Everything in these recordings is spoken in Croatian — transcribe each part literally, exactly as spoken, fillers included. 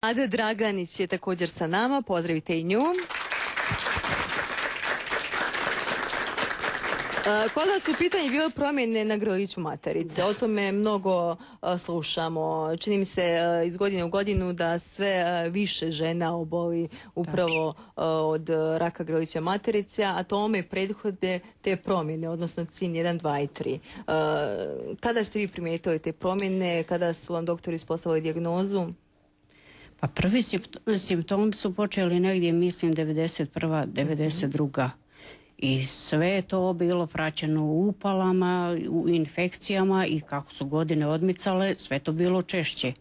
Ada Draganić je također sa nama, pozdravite i nju. Kod nas u pitanju bilo promjene na grliću materice. O tome mnogo slušamo. Čini mi se iz godine u godinu da sve više žena oboli upravo od raka grlića materice, a tome prethode te promjene, odnosno C I N jedan, dva i tri. Kada ste vi primijetili te promjene? Kada su vam doktori ispostavili dijagnozu? Pa prvi simptomi su počeli negdje, mislim, devedeset prva, devedeset druga. I sve je to bilo praćeno u upalama, u infekcijama i kako su godine odmicale, sve to bilo češće.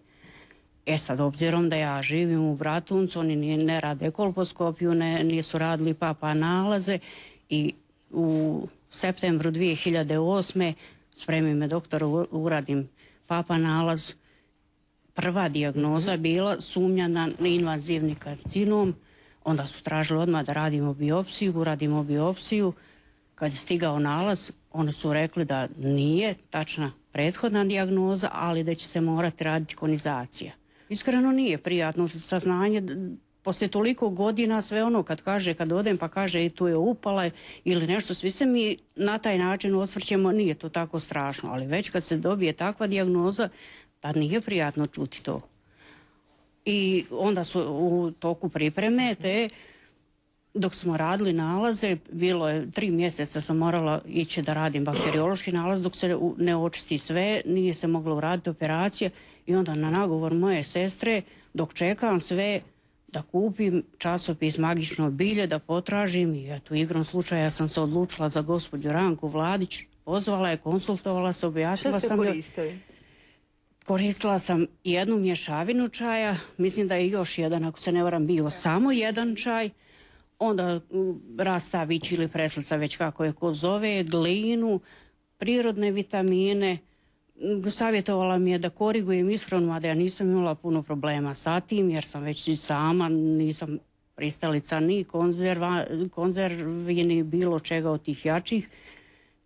E sad, obzirom da ja živim u Bratuncu, oni ne rade kolposkopiju, ne, nisu radili papa nalaze i u septembru dvije hiljade osme spremi me doktor, uradim papa nalaz. Prva dijagnoza je bila sumnja na invazivni karcinom. Onda su tražili odmah da radimo biopsiju, uradimo biopsiju. Kad je stigao nalaz, oni su rekli da nije tačna prethodna dijagnoza, ali da će se morati raditi konizacija. Iskreno nije prijatno saznanje, poslije toliko godina sve ono kad kaže, kad odem pa kaže i tu je upala ili nešto, svi se mi na taj način osvrćemo, nije to tako strašno, ali već kad se dobije takva dijagnoza, tad nije prijatno čuti to. I onda su u toku pripreme te, dok smo radili nalaze, bilo je tri mjeseca sam morala ići da radim bakteriološki nalaz, dok se ne očisti sve, nije se moglo uraditi operacija i onda na nagovor moje sestre, dok čekam sve, da kupim časopis Magično bilje, da potražim i eto, igrom slučaja sam se odlučila za gospođu Ranku Vladić, pozvala je, konsultovala se, objasnila sam. Što ste koristili? Koristila sam jednu mješavinu čaja, mislim da je još jedan, ako se ne varam, bio samo jedan čaj, onda rastavić ili preslica, već kako je ko zove, glinu, prirodne vitamine. Savjetovala mi je da korigujem ishranu, a da ja nisam imala puno problema sa tim, jer sam već i sama, nisam pristalica ni konzerva, konzervi, ni bilo čega od tih jačih,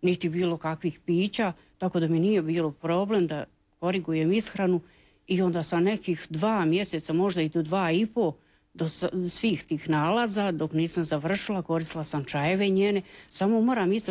niti bilo kakvih pića, tako da mi nije bilo problem da korigujem ishranu i onda sa nekih dva mjeseca, možda i do dva i po, do svih tih nalaza, dok nisam završila, koristila sam čajeve njene. Samo moram isto